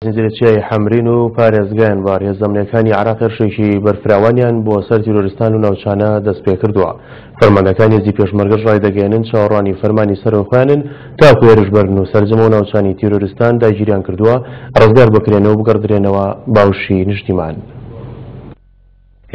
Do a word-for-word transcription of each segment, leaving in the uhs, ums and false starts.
زنجیرە چیای حەمرین و پارێزگای ئەنبار هێزە ئەمنییەکانی عێراق هێرشێکی بەرفراوانیان بۆ سەر تیرۆریستان و ناوچانە دەست پێکردووە. فەرماندەکانی هێزی پێشمەرگەش ڕایدەگەیەنن چاوەڕوانی فەرمانی سەرەوە خۆیانن تاکو هێرش بەرن و سەرجەم ئەو ناوچانی تیرۆریستان داگیریان کردووە ڕزگار بکرێنەوە و بگەڕدرێنەوە باوشی نیشتیمان.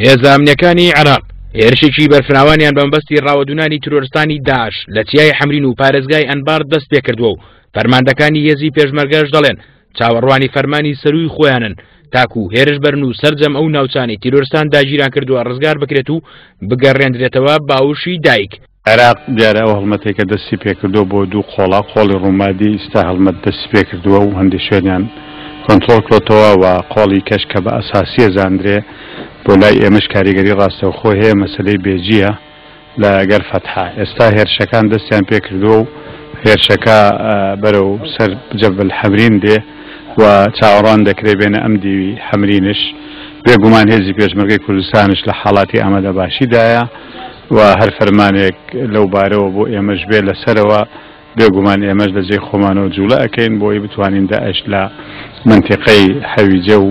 هێزە ئەمنییەکانی عێراق هێرشێکی بەرفراوانیان بە مەبەستی ڕاوەدوونانی تیرۆریستانی داعش لە چیای حەمرین و پارێزگای ئەنبار دەست پێکردووە و فەرماندەکانی هێزی پێشمەرگەش دەڵێن چاوەڕوانی فەرمانی سەروی خۆیانن تاکو هێرش بەرن و سەرجەم ئەو ناوچانەی تیرۆرستان داگیران کردووە ڕزگار بکرێت و بگەڕێندرێتەوە باوشی دایک. عێراق دیارە ئەو هەڵمەتێکە دەستی پێکردووە بۆ دوو قۆڵا، قۆڵی ڕوومادی ئیستا هەڵمەت دەستی پێکردووە و هەندێک شوێنیان کۆنترۆڵ کرۆتەوە و قۆڵی کەش کە بە ئەساسیە زاندرێ بۆ لای ئێمەش کاریگەری ڕاستەوخۆ هەیە، مەسلەی بێجیە لەگەر فەتحە. ئێستا هێرشەکان دەستیان پێکردووە و هێرشەکە بەرەو سەر جەبل حەمرین دێ و چاوەڕوان دەکرێ بێنە ئەم دیوی حەمرینش. بێگومان هێزی پێشمەرگەی کوردستانش لە حاڵاتی ئامادەباشیدایە و هەر فەرمانێک لەو بارەوە بۆ ئێمەش بێ لەسەرەوە بێگومان ئێمەش لە جێی خۆمانەوە جوڵە ئەکەین بۆی بتوانین داعش لە منتیقەی حەویجە و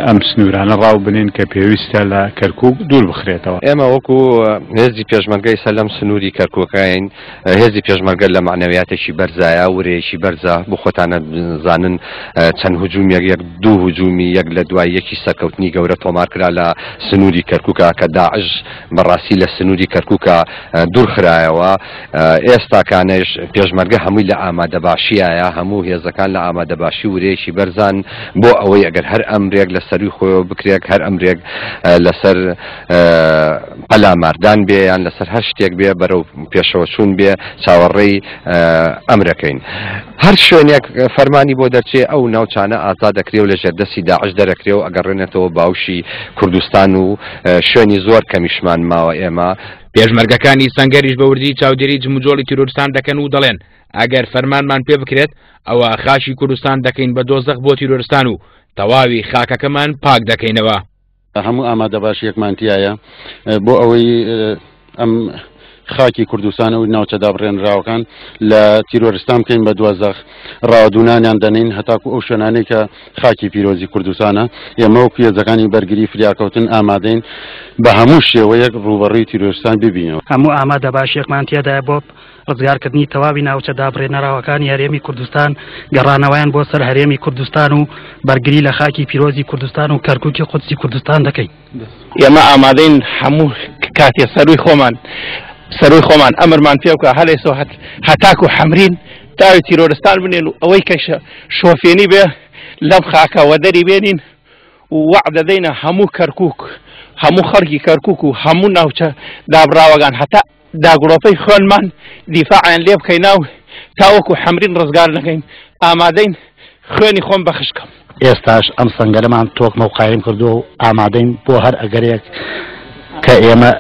ئەم سنوورانە ڕاو بنین کە پێویستە لە کەرکوک دوور بخرێتەوە. ئێمە وەکو هێزی پێشمەرگەی سەر لەم سنووری کەرکوکین، هێزی پێشمەرگە لە معنەویاتێکی بەرزایە، ورەیەکی بەرزە. بۆ خۆتانە زانن چەند هجوومیەک، یەک دوو هجوومی یەک لە دوای یەکی سەرکەوتنی گەورە تۆمار کرا لە سنووری کەرکوکە کە داعش بەڕاستی لە سنووری کەرکوکە دوور خرایەوە. ئێستاکانش پێشمەرگە هەمووی لە ئامادەباشیایە، هەموو هێزەکان لە ئامادەباشی ورەیەکی بەرزان بۆ ئەوەی ئەگەر هەر ئەمرێک لە سەروی خۆیەوە بکرێت، هەر ئەمرێک لەسەر پەلاماردان بێ یان لەسەر هەر شتێک بێ بەرەو پێشەوە چوون بێ چاوەڕێی ئەمرەکەین. هەر شوێنێک فەرمانی بۆ دەرچێ ئەو ناوچانە ئازاد دەکرێ و لە ژێردەستی داعش دەرەکرێ و ئەگەڕێنێتەوە باوشی کوردستان و شوێنی زۆر کەمیشمان ماوە ئێمە. پێشمەرگەکانی سەنگەریش بە وردی چاودێری جموجۆڵی تیرۆریستان دەکەن و دەڵێن ئەگەر فەرمانمان پێ بکرێت ئەوە خاکی کوردستان دەکەین بە دۆزەخ بۆ تیرۆریستان و تەواوی خاکەکەمان پاک دەکەینەوە. هەموو ئامادەباشیەکمان تایە بۆ ئەوەی ئەم خاکی کوردستان و ناوچە دابڕێنراوەکان لە تیرۆریستان بکەین بە دوازەخ، ڕاوەدوونانیان دەنین هەتاکو ئەو شوێنانەی کە خاکی پیرۆزی کوردستانە. ئێمە وەکو هێزەکانی بەرگری فریاکەوتن ئامادەین بە هەموو شێوەیەک ڕووبەڕووی تیرۆریستان ببینەوە. هەموو ئامادەباشیەکمان تێدایە بۆ ڕزگارکردنی تەواوی ناوچە دابڕێنەراوەکانی هەرێمی کوردستان، گەڕانەوەیان بۆ سەر هەرێمی کوردستان و بەرگری لە خاکی پیرۆزی کوردستان و کەرکوکی قودسی کوردستان دەکەین. ئێمە ئامادەین هەموو کاتێ سەروی خۆمان سەروی خۆمان ئەمرمان پێ بکە هەر ئێستا هەتاکو حەمرین تاوی تیرۆریستان بنێن و ئەوەی کە شۆفێنی بێ لەم خاکەوە دەری بێنین و وەعد دەدەینە هەموو کەرکوک، هەموو خەڵکی کەرکوک و هەموو ناوچە دابراوەکان هەتا داگرۆپەی خوێنمان دیفاعیان لێ بکەینە و تاوەکو حەمرین ڕزگار نەکەین ئامادەین خوێنی خۆم بەخشکەم. ئێستاش ئەم سەنگەرەمان تۆکمە و قایم کردووە و ئامادەین بۆ هەر ئەگەرێک کە ئێمە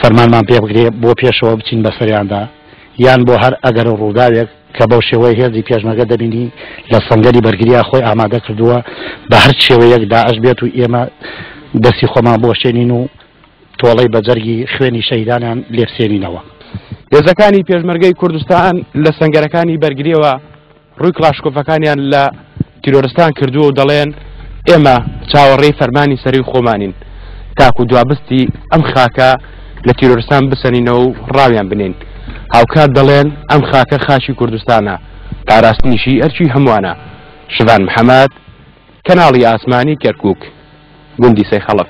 فەرمانمان پێ بگرێ بۆ پێشەوە بچین بەسەریاندا، یان بۆ هەر ئەگەر و ڕووداوێک کە بەو شێوەی هێزی پێشمەرگە دەبینی لە سەنگەری بەرگریا خۆی ئامادە کردووە بە هەر شێوەیەک داعش بێت و ئێمە دەستی خۆمان بۆشێنین و تۆڵەی بەجەرگی خوێنی شەهیدانیان لێبسێنینەوە. هێزەکانی پێشمەرگەی کوردستان لە سەنگەرەکانی بەرگریەوە ڕووی کڵاشکۆفەکانیان لە تیرۆریستان کردووە و دەڵێن ئێمە چاوەڕێی فەرمانی سەروی خۆمانین تاکو دوابستی ئەم خاکە لە تیرۆریستان بسەنینەوە و ڕاویان بنین. هاوکات دەڵێن ئەم خاکە خاکی کوردستانە، پاراستنیشی ئەرکی هەمووانە. شڤان محەممەد، کەناڵی ئاسمانی کەرکوک، گوندی سەیخەڵف.